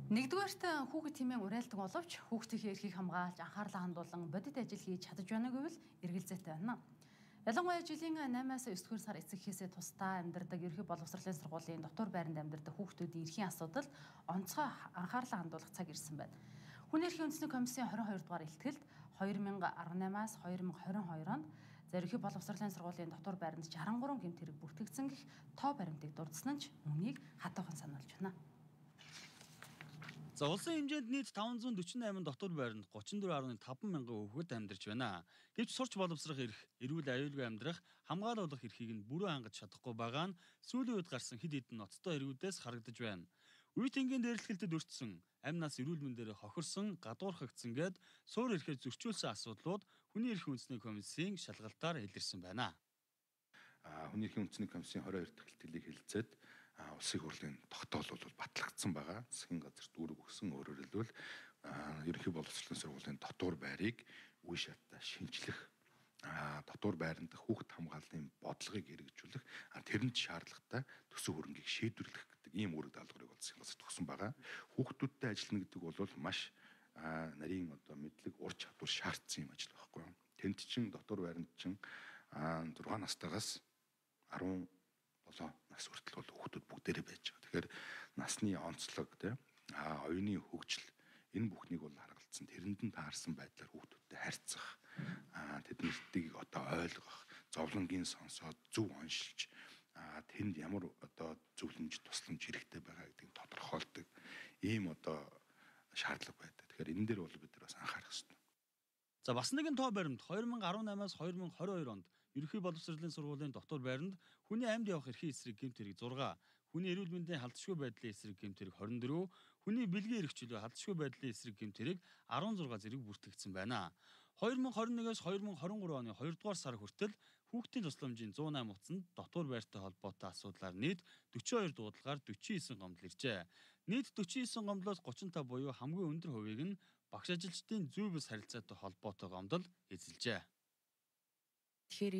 Нэгдүгээрт хүүхэд хэмээн уриалдаг боловч хүүхдийн эрхийг хамгаалж анхаарлаа хандуулан бодит ажил хийж чадаж байна гэвэл эргэлзээтэй байна. Ялангуяа жилийн 8-аас 9-р сар эцэгхээсээ тусдаа амьдардаг ерхий боловсролын сургуулийн дотор байранд амьдардаг хүүхдүүдийн эрхийн асуудал онцгой анхаарлаа хандуулах цаг ирсэн байна. Хүний эрхийн үндэсний комиссийн 22 дугаар илтгэлд 2018-аас 2022 онд ерхий боловсролын сургуулийн дотор байранд 63 гэмт хэрэг бүртгэгдсэн гэх тоо баримтыг дурдсан нь үүнийг хатуухан сануулж байна. За улсын хэмжээнд нийт 548 дотор байранд 34.5 мянган хүүхэд амьдарч байна. Гэвч сурч боловсрох эрх, эрүүл аюулгүй амьдрах, хамгаалуулах эрхийг нь бүрэн хангаж чадахгүй байгаа нь сүүлийн үед гарсан хэд хэдэн ноцтой эргүүдээс харагдаж байна. Үе тэнгийн дээрлэхэлтэд өртсөн, амь нас эрүүл мэндээр хохирсон, гадуурхагдсан гэд суур эрхээ зөрчүүлсэн асуудлууд хүний эрхийн үндэсний комиссийн шалгалтаар илэрсэн байна. Хүний эрхийн үндэсний комиссийн 22 дахь илтгэлийг хэлэлцээд улсын хурлын тогтоол бол батлагдсан байгаа. Засгийн газарт үүрэг өгсөн, өөрөөр хэлбэл ерөнхий боловсролын сургуулийн дотор байрыг үе шаттай шинжлэх, дотор байранд хүүхэд хамгааллын бодлогыг хэрэгжүүлэх, тэрэнд шаардлагатай төсөв хөрөнгийг шийдвэрлэх гэдэг ийм үүрэг даалгаврыг засгийн газарт өгсөн байгаа. Хүүхдүүдтэй ажиллана гэдэг бол маш нарийн мэдлэг, ур чадвар шаардсан юм ажил байхгүй юу? Тэнд чин дотор байранд чин 6 настайгаас 17 нас хүртэл бол хүүхдүүд бүгдээрээ байж байгаа. Тэгэхээр насны онцлог, оюуны хөгжил энэ бүхнийг бол харгалзсан, тэрэнд нь таарсан байдлаар хүүхдүүдтэй харьцах, тэднэртийг ойлгох, зовлонгийн сонсоод зөв оншилж, тэнд ямар зөвлөмж, тусламж хэрэгтэй байгаа гэдгийг тодорхойлдог ийм шаардлага байдаг. Тэгэхээр энэ дээр бол бид нар бас анхаарах хэрэгтэй. За бас нэгэн тоо баримт 2018-аас 2022 онд ерөнхий боловсролын сургуулийн дотор байранд хүний амьд явах эрхийн эсрэг гэмт хэрэг 6, хүний эрүүл мэндийн халдшгүй байдлын эсрэг гэмт хэрэг 24, хүний бэлгийн эрх чөлөө халдшгүй байдлын эсрэг гэмт хэрэг 16 зэрэг бүртгэгдсэн байна. 2021-с 2023 оны 2 дугаар сар хүртэл хүүхдийн тусламжийн 108 утсанд дотор байртай холбоотой асуудлаар нийт 42 дуудлагаар 49 гомдол иржээ. Нийт 49 гомдлоос 35 буюу хамгийн өндөр хувийг нь багш ажилчдын зүй бус харилцаатай холбоотой гомдол эзэлжээ. Тэгэхээр